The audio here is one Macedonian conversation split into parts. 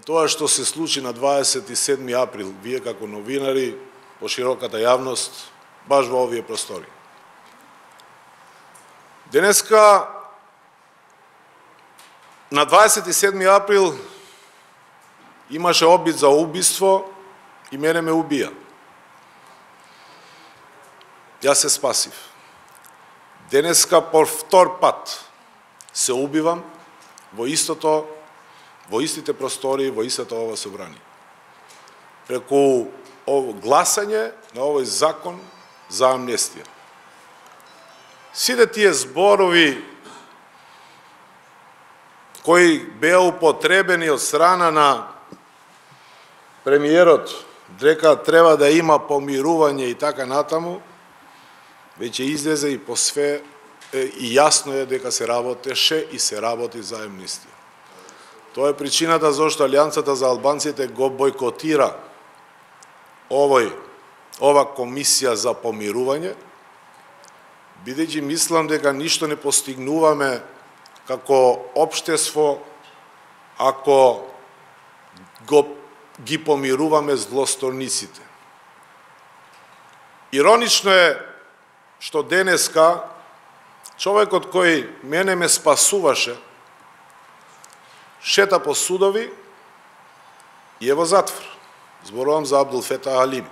тоа што се случи на 27. април, вие како новинари, по широката јавност, баш во овие простори. Денеска, на 27. април, имаше обид за убиство и мене ме убија. Јас се спасив. Денеска по втор пат се убивам во истите простори, во истата ова собрание. Преку гласање на овој закон за амнестија. Сите тие зборови кои беа употребени од страна на премиерот, дека треба да има помирување и така натаму, веќе излезе и по све и јасно е дека се работеше и се работи за амнестија. Тоа е причината зашто Алијансата за албанците го бойкотира ова комисија за помирување, бидејќи мислам дека ништо не постигнуваме како општество ако ги помируваме злосторниците. Иронично е што денеска човекот кој мене ме спасуваше шета по судови и е во затвор. Зборувам за Абдул Фета Алим.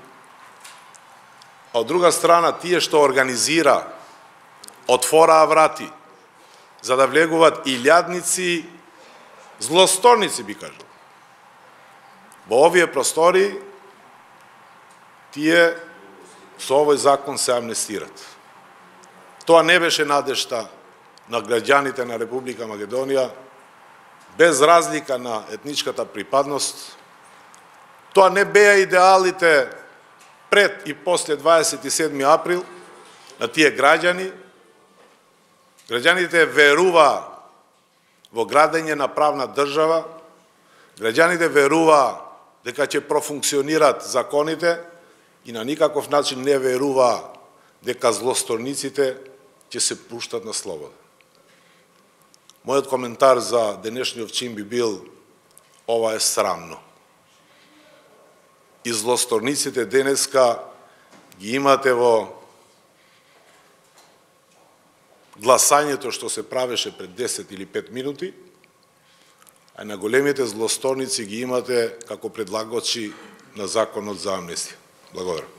А од друга страна, тие што организира, отвораа врати, за да влегуваат илјадници, злосторници, би кажал. Во овие простори, тие со овој закон се амнестират. Тоа не беше надежта на граѓаните на Република Македонија, без разлика на етничката припадност. Тоа не беа идеалите пред и после 27. април на тие граѓани. Граѓаните веруваа во градење на правна држава, граѓаните веруваа дека ќе профункционират законите и на никаков начин не веруваа дека злосторниците ќе се пуштат на слобода. Мојот коментар за денешниот чин би бил: ова е срамно. И злосторниците денеска ги имате во гласањето што се правеше пред 10 или 5 минути, а на големите злосторници ги имате како предлагачи на законот за амнестија. Благодарам.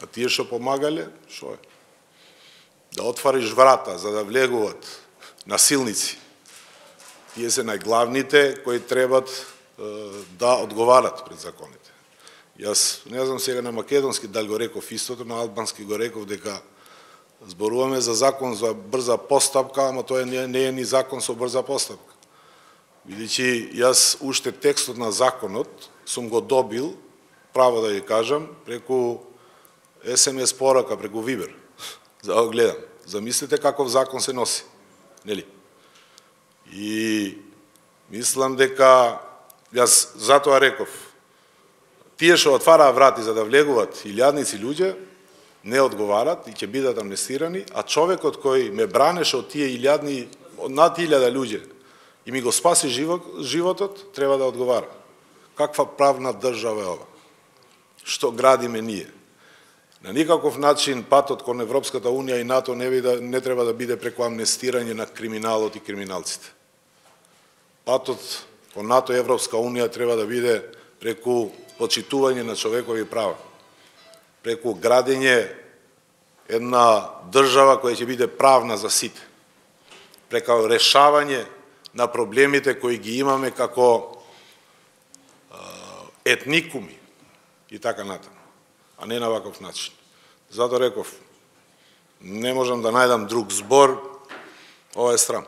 А тие што помагале, што е? Да отвариш врата за да влегуваат насилници. Тие се најглавните кои требат да одговарат пред законите. Јас не знам сега на македонски дали го реков истото, на албански го реков дека зборуваме за закон за брза постапка, ама тоа не е ни закон со брза постапка. Бидејќи јас уште текстот на законот сум го добил, право да ја кажам, преку СМС порака, преку Вибер. За да го гледам. Замислите каков закон се носи. Нели? И мислам дека јас затоа реков, тие што отвараа врати за да влегуваат илјадници луѓе, не одговарат и ќе бидат амнестирани, а човекот кој ме бранеше од тие илјадни, над 1000 луѓе и ми го спаси животот, треба да одговара. Каква правна држава е ова? Што градиме ние? На никаков начин патот кон Европската Унија и НАТО не треба да биде преку амнестирање на криминалот и криминалците. Патот кон НАТО и Европска Унија треба да биде преку почитување на човекови права, преку градење една држава која ќе биде правна за сите, преку решавање на проблемите кои ги имаме како етникуми и така натаму, а не на ваков начин. Зато реков, не можам да најдам друг збор, ова е срам.